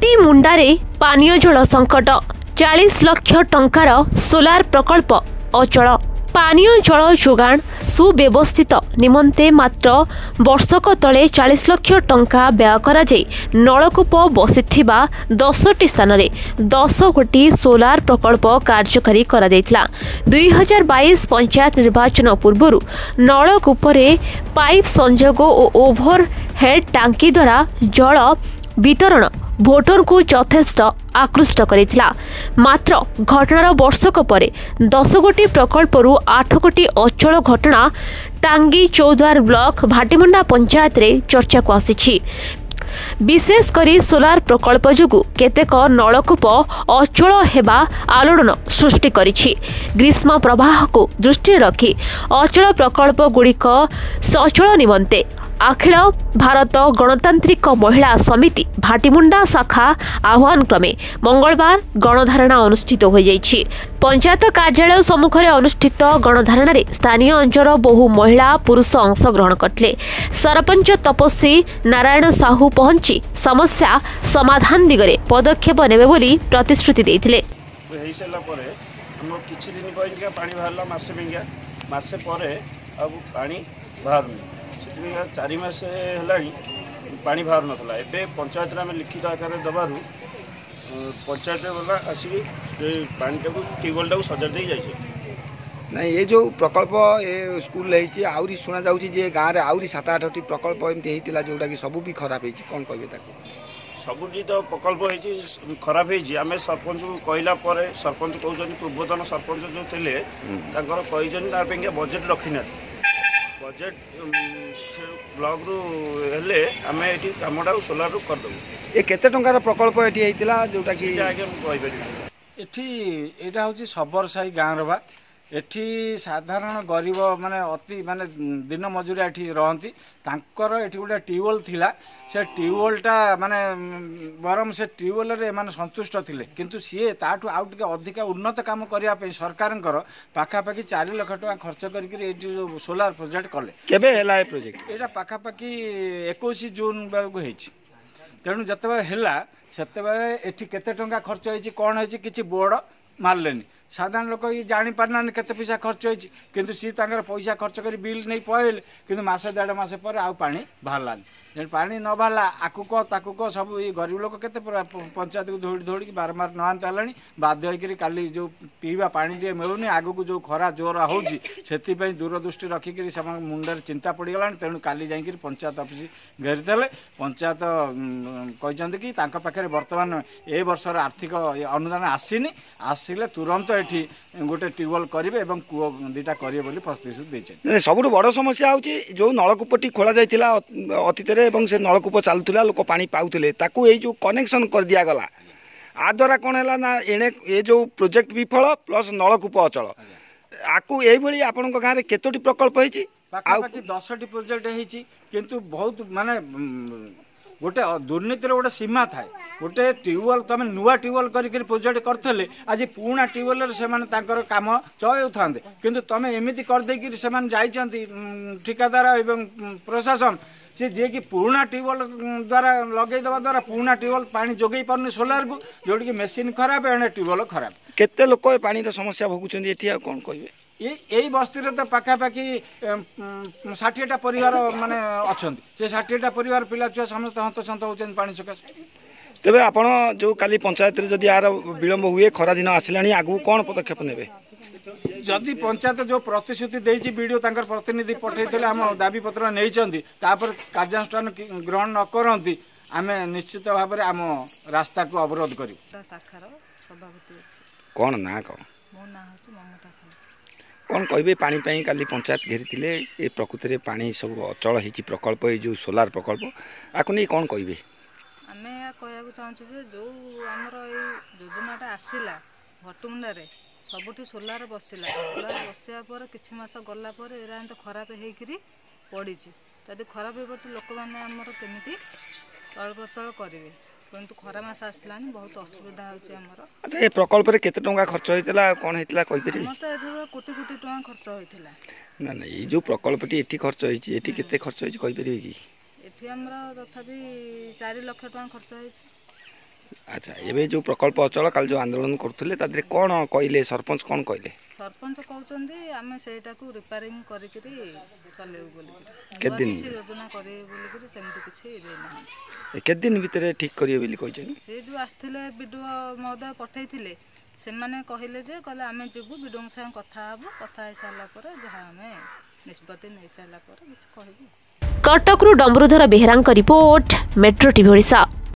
ଭାଟିମୁଣ୍ଡାରେ ପାନୀୟ ଜଳ ସଙ୍କଟ, 40 ଲକ୍ଷ ଟଙ୍କାର ସୋଲାର ପ୍ରକଳ୍ପ ଅଚଳ। ପାନୀୟ ଜଳ ଯୋଗାଣ ସୁବ୍ୟବସ୍ଥିତ ନିମନ୍ତେ ମାତ୍ର ବର୍ଷକ ତଳେ 40 ଲକ୍ଷ ଟଙ୍କା ବ୍ୟୟ କରାଯାଇ ନଳକୂପ ବସିଥିବା 10ଟି ସ୍ଥାନରେ 10 ଗୋଟି ସୋଲାର ପ୍ରକଳ୍ପ କାର୍ଯ୍ୟକାରୀ କରାଯାଇଥିଲା। 2022 ପଞ୍ଚାୟତ ନିର୍ବାଚନ ପୂର୍ବରୁ ନଳକୂପରେ ପାଇପ୍ ସଂଯୋଗ ଓ ଓଭର ହେଡ୍ ଟାଙ୍କି ଦ୍ୱାରା ଜଳ ବିତରଣ ଭୋଟରଙ୍କୁ ଯଥେଷ୍ଟ ଆକୃଷ୍ଟ କରିଥିଲା। ମାତ୍ର ଘଟଣାର ବର୍ଷକ ପରେ 10 ଗୋଟି ପ୍ରକଳ୍ପରୁ 8 ଗୋଟି ଅଚଳ ଘଟଣା ଟାଙ୍ଗୀ ଚୌଦ୍ୱାର ବ୍ଲକ ଭାଟିମୁଣ୍ଡା ପଞ୍ଚାୟତରେ ଚର୍ଚ୍ଚାକୁ ଆସିଛି। ବିଶେଷ କରି ସୋଲାର ପ୍ରକଳ୍ପ ଯୋଗୁଁ କେତେକ ନଳକୂପ ଅଚଳ ହେବା ଆଲୋଡ଼ନ ସୃଷ୍ଟି କରିଛି। ଗ୍ରୀଷ୍ମ ପ୍ରବାହକୁ ଦୃଷ୍ଟିରେ ରଖି ଅଚଳ ପ୍ରକଳ୍ପଗୁଡ଼ିକ ସଚଳ ନିମନ୍ତେ ଅଖିଳ ଭାରତ ଗଣତାନ୍ତ୍ରିକ ମହିଳା ସମିତି ଭାଟିମୁଣ୍ଡା ଶାଖା ଆହ୍ୱାନ କ୍ରମେ ମଙ୍ଗଳବାର ଗଣଧାରଣା ଅନୁଷ୍ଠିତ ହୋଇଯାଇଛି। ପଞ୍ଚାୟତ କାର୍ଯ୍ୟାଳୟ ସମ୍ମୁଖରେ ଅନୁଷ୍ଠିତ ଗଣଧାରଣାରେ ସ୍ଥାନୀୟ ଅଞ୍ଚଳର ବହୁ ମହିଳା ପୁରୁଷ ଅଂଶଗ୍ରହଣ କରିଥିଲେ। ସରପଞ୍ଚ ତପସ୍ୱୀ ନାରାୟଣ ସାହୁ ପହଞ୍ଚି ସମସ୍ୟା ସମାଧାନ ଦିଗରେ ପଦକ୍ଷେପ ନେବେ ବୋଲି ପ୍ରତିଶ୍ରୁତି ଦେଇଥିଲେ। ହେଇସାରିଲା ପରେ ଆମର କିଛି ଦିନ ପାଇଁକା ପାଣି ବାହାରିଲା, ମାସେ ପାଇଁକା। ମାସେ ପରେ ଆଉ ପାଣି ବାହାରୁନି। ସେଥିପାଇଁ 4 ମାସ ହେଲାଣି ପାଣି ବାହାରୁନଥିଲା। ଏବେ ପଞ୍ଚାୟତରେ ଆମେ ଲିଖିତ ଆକାରରେ ଦେବାରୁ ପଞ୍ଚାୟତ ବାଲା ଆସିକି ସେ ପାଣିଟାକୁ, ଟ୍ୟୁବୱେଲ୍ଟାକୁ ସଜାଡ଼ି ଦେଇ ଯାଇଛି। ନାଇଁ, ଏ ଯେଉଁ ପ୍ରକଳ୍ପ ଏ ସ୍କୁଲରେ ହେଇଛି, ଆହୁରି ଶୁଣାଯାଉଛି ଯେ ଗାଁରେ ଆହୁରି 7 8ଟି ପ୍ରକଳ୍ପ ଏମିତି ହେଇଥିଲା, ଯେଉଁଟାକି ସବୁ ବି ଖରାପ ହେଇଛି, କ'ଣ କହିବେ ତାକୁ? ସବୁଠି ତ ପ୍ରକଳ୍ପ ହେଇଛି, ଖରାପ ହେଇଛି। ଆମେ ସରପଞ୍ଚକୁ କହିଲା ପରେ ସରପଞ୍ଚ କହୁଛନ୍ତି, ପୂର୍ବତନ ସରପଞ୍ଚ ଯେଉଁ ଥିଲେ ତାଙ୍କର କହିଛନ୍ତି ତା ପାଇଁକା ବଜେଟ୍ ରଖିନାହାନ୍ତି। ବଜେଟ୍ ସେ ବ୍ଲକରୁ ହେଲେ ଆମେ ଏଠି କାମଟାକୁ ସୋଲାରରୁ କରିଦେବୁ। ଏ କେତେ ଟଙ୍କାର ପ୍ରକଳ୍ପ ଏଠି ହେଇଥିଲା ଯେଉଁଟାକି? ଆଜ୍ଞା, ମୁଁ କହିପାରିବି। ଏଠି ଏଇଟା ହେଉଛି ଶବରସାହି ଗାଁର ବା ଏଠି ସାଧାରଣ ଗରିବ ମାନେ ଅତି ମାନେ ଦିନ ମଜୁରିଆ ଏଠି ରହନ୍ତି। ତାଙ୍କର ଏଠି ଗୋଟେ ଟ୍ୟୁବୱେଲ୍ ଥିଲା। ସେ ଟ୍ୟୁବୱେଲ୍ଟା ମାନେ ବରଂ ସେ ଟ୍ୟୁବୱେଲ୍ରେ ଏମାନେ ସନ୍ତୁଷ୍ଟ ଥିଲେ, କିନ୍ତୁ ସିଏ ତାଠୁ ଆଉ ଟିକେ ଅଧିକା ଉନ୍ନତ କାମ କରିବା ପାଇଁ ସରକାରଙ୍କର ପାଖାପାଖି 4 ଲକ୍ଷ ଟଙ୍କା ଖର୍ଚ୍ଚ କରିକିରି ଏଇଠି ଯେଉଁ ସୋଲାର ପ୍ରୋଜେକ୍ଟ କଲେ। କେବେ ହେଲା ଏ ପ୍ରୋଜେକ୍ଟ? ଏଇଟା ପାଖାପାଖି 21 ଜୁନ୍ ବେଳକୁ ହେଇଛି। ତେଣୁ ଯେତେବେଳେ ହେଲା ସେତେବେଳେ ଏଠି କେତେ ଟଙ୍କା ଖର୍ଚ୍ଚ ହେଇଛି, କ'ଣ ହେଇଛି, କିଛି ବୋର୍ଡ଼ ମାରିଲେନି। ସାଧାରଣ ଲୋକ ଇଏ ଜାଣିପାରୁନାହାନ୍ତି କେତେ ପଇସା ଖର୍ଚ୍ଚ ହେଇଛି। କିନ୍ତୁ ସିଏ ତାଙ୍କର ପଇସା ଖର୍ଚ୍ଚ କରି ବିଲ୍ ନେଇ ପଳେଇଲେ। କିନ୍ତୁ ମାସେ ଦେଢ଼ ମାସ ପରେ ଆଉ ପାଣି ବାହାରିଲାନି। ଯେମିତି ପାଣି ନ ବାହାରିଲା, ଆକୁ କହ ତାକୁ କହ, ସବୁ ଏଇ ଗରିବ ଲୋକ କେତେ ପଞ୍ଚାୟତକୁ ଦୌଡ଼ି ଦୌଡ଼ିକି ବାରମ୍ବାର ନହାନ୍ତ ହେଲାଣି। ବାଧ୍ୟ ହେଇକିରି କାଲି ଯେଉଁ ପିଇବା ପାଣି ଟିକେ ମିଳୁନି, ଆଗକୁ ଯେଉଁ ଖରା ଜୋର ହେଉଛି, ସେଥିପାଇଁ ଦୂରଦୃଷ୍ଟି ରଖିକିରି ସେମାନଙ୍କ ମୁଣ୍ଡରେ ଚିନ୍ତା ପଡ଼ିଗଲାଣି। ତେଣୁ କାଲି ଯାଇକିରି ପଞ୍ଚାୟତ ଅଫିସ ଘେରିଥିଲେ। ପଞ୍ଚାୟତ କହିଛନ୍ତି କି ତାଙ୍କ ପାଖରେ ବର୍ତ୍ତମାନ ଏ ବର୍ଷର ଆର୍ଥିକ ଅନୁଦାନ ଆସିନି, ଆସିଲେ ତୁରନ୍ତ ଏଠି ଗୋଟେ ଟ୍ୟୁବୱେଲ୍ କରିବେ ଏବଂ କୂଅ 2ଟା କରିବେ ବୋଲି ପ୍ରତିଶ୍ରୁତି ଦେଇଛନ୍ତି। ସବୁଠୁ ବଡ଼ ସମସ୍ୟା ହେଉଛି ଯେଉଁ ନଳକୂପଟି ଖୋଳା ଯାଇଥିଲା ଅତୀତରେ ଏବଂ ସେ ନଳକୂପ ଚାଲୁଥିଲା, ଲୋକ ପାଣି ପାଉଥିଲେ, ତାକୁ ଏଇ ଯେଉଁ କନେକ୍ସନ୍ କରିଦିଆଗଲା, ଆ ଦ୍ୱାରା କ'ଣ ହେଲା ନା ଏଣେ ଏ ଯେଉଁ ପ୍ରୋଜେକ୍ଟ ବିଫଳ ପ୍ଲସ୍ ନଳକୂପ ଅଚଳ। ଆକୁ ଏଇଭଳି ଆପଣଙ୍କ ଗାଁରେ କେତୋଟି ପ୍ରକଳ୍ପ ହେଇଛି? ପାଖାପାଖି 10ଟି ପ୍ରୋଜେକ୍ଟ ହେଇଛି। କିନ୍ତୁ ବହୁତ ମାନେ ଗୋଟେ ଦୁର୍ନୀତିର ଗୋଟେ ସୀମା ଥାଏ। ଗୋଟେ ଟ୍ୟୁବୱେଲ୍ ତୁମେ ନୂଆ ଟ୍ୟୁବୱେଲ୍ କରିକିରି ପ୍ରୋଜେକ୍ଟ କରିଥିଲେ, ଆଜି ପୁରୁଣା ଟ୍ୟୁବୱେଲ୍ରେ ସେମାନେ ତାଙ୍କର କାମ ଚଳାଉଥାନ୍ତେ। କିନ୍ତୁ ତୁମେ ଏମିତି କରିଦେଇକିରି ସେମାନେ ଯାଇଛନ୍ତି ଠିକାଦାର ଏବଂ ପ୍ରଶାସନ, ସେ ଯିଏକି ପୁରୁଣା ଟ୍ୟୁବୱେଲ୍ ଦ୍ୱାରା ଲଗେଇଦେବା ଦ୍ୱାରା ପୁରୁଣା ଟ୍ୟୁବୱେଲ୍ ପାଣି ଯୋଗେଇ ପାରୁନି ସୋଲାରକୁ, ଯେଉଁଠିକି ମେସିନ୍ ଖରାପ, ଏଣେ ଟ୍ୟୁବୱେଲ୍ ଖରାପ। କେତେ ଲୋକ ଏ ପାଣିର ସମସ୍ୟା ଭୋଗୁଛନ୍ତି ଏଠି ଆଉ କ'ଣ କହିବେ? ଏଇ ବସ୍ତିରେ ତ ପାଖାପାଖି 60ଟା ପରିବାର ମାନେ ଅଛନ୍ତି। ସେ 60ଟା ପରିବାର ପିଲା ଛୁଆ ସମସ୍ତେ ହନ୍ତସନ୍ତ ହେଉଛନ୍ତି ପାଣି ସକାଶେ। ତେବେ ଆପଣ ଯେଉଁ କାଲି ପଞ୍ଚାୟତରେ ଯଦି ଏହାର ବିଳମ୍ବ ହୁଏ, ଖରା ଦିନ ଆସିଲାଣି, ଆଗକୁ କ'ଣ ପଦକ୍ଷେପ ନେବେ? ଯଦି ପଞ୍ଚାୟତ ଯେଉଁ ପ୍ରତିଶ୍ରୁତି ଦେଇଛି, ବିଡ଼ିଓ ତାଙ୍କର ପ୍ରତିନିଧି ପଠାଇଥିଲେ, ଆମ ଦାବିପତ୍ର ନେଇଛନ୍ତି, ତାପରେ କାର୍ଯ୍ୟାନୁଷ୍ଠାନ ଗ୍ରହଣ ନ କରନ୍ତି, ଆମେ ନିଶ୍ଚିତ ଭାବରେ ଆମ ରାସ୍ତାକୁ ଅବରୋଧ କରିବୁ। ଶାଖାର ସଭାପତି ଅଛି। କ'ଣ ନାଁ? କ'ଣ ମୋ ନାଁ ହେଉଛି ମମତା ସାହୁ। କ'ଣ କହିବେ ପାଣି ପାଇଁ କାଲି ପଞ୍ଚାୟତ ଘେରିଥିଲେ? ଏ ପ୍ରକୃତିରେ ପାଣି ସବୁ ଅଚଳ ହେଇଛି ପ୍ରକଳ୍ପ, ଏଇ ଯେଉଁ ସୋଲାର ପ୍ରକଳ୍ପ, ଆକୁ ନେଇ କ'ଣ କହିବେ? ଆମେ ଏହା କହିବାକୁ ଚାହୁଁଛୁ ଯେ ଯେଉଁ ଆମର ଏଇ ଯୋଜନାଟା ଆସିଲା ଭଟୁମୁଣ୍ଡାରେ ସବୁଠି ସୋଲାର ବସିଲା, ସୋଲାର ବସିବା ପରେ କିଛି ମାସ ଗଲା ପରେ ଏରା ଏମିତି ଖରାପ ହେଇକିରି ପଡ଼ିଛି। ଯଦି ଖରାପ ହେଇପଡ଼ିଛି, ଲୋକମାନେ ଆମର କେମିତି ଚଳପ୍ରଚଳ କରିବେ? କିନ୍ତୁ ଖରା ମାସ ଆସିଲାଣି, ବହୁତ ଅସୁବିଧା ହେଉଛି ଆମର। ଆଚ୍ଛା, ଏ ପ୍ରକଳ୍ପରେ କେତେ ଟଙ୍କା ଖର୍ଚ୍ଚ ହେଇଥିଲା, କ'ଣ ହେଇଥିଲା କହିପାରିବେ? ଆମର ତ ଏଥିରେ କୋଟି କୋଟି ଟଙ୍କା ଖର୍ଚ୍ଚ ହୋଇଥିଲା। ନା ନା, ଏଇ ଯେଉଁ ପ୍ରକଳ୍ପଟି ଏଠି ଖର୍ଚ୍ଚ ହେଇଛି, ଏଠି କେତେ ଖର୍ଚ୍ଚ ହେଇଛି କହିପାରିବେ କି? ଏଠି ଆମର ତଥାପି 4 ଲକ୍ଷ ଟଙ୍କା ଖର୍ଚ୍ଚ ହେଇଛି। ଆଚ୍ଛା, ଏବେ ଯେଉଁ ପ୍ରକଳ୍ପ ଅଚଳ, କାଲି ଯେଉଁ ଆନ୍ଦୋଳନ କରୁଥିଲେ, ତା ଦେହରେ କ'ଣ କହିଲେ ସରପଞ୍ଚ? କ'ଣ କହିଲେ? ସରପଞ୍ଚ କହୁଛନ୍ତି ଆମେ ସେଇଟାକୁ ରିପେୟାରିଂ କରିକିରି ଚଲେଇବୁ ବୋଲିକିରି। କେତେ ଦିନ? କିଛି ଯୋଜନା କରିବେ ବୋଲିକିରି ସେମିତି କିଛି ଦେଇନାହାନ୍ତି। କେତେ ଦିନ ଭିତରେ ଠିକ୍ କରିବେ ବୋଲି କହିଛନ୍ତି? ସେ ଯେଉଁ ଆସିଥିଲେ, ବିଡ଼ିଓ ମହୋଦୟ ପଠେଇଥିଲେ, ସେମାନେ କହିଲେ ଯେ କହିଲେ ଆମେ ଯିବୁ, ବିଡ଼ିଓଙ୍କ ସାଙ୍ଗେ କଥା ହେବୁ, କଥା ହେଇସାରିଲା ପରେ ଯାହା ଆମେ ନିଷ୍ପତ୍ତି ନେଇସାରିଲା ପରେ କିଛି କହିବୁ। କଟକରୁ ଡମ୍ବରୁଧର ବେହେରାଙ୍କ ରିପୋର୍ଟ, ମେଟ୍ରୋ ଟିଭି ଓଡ଼ିଶା।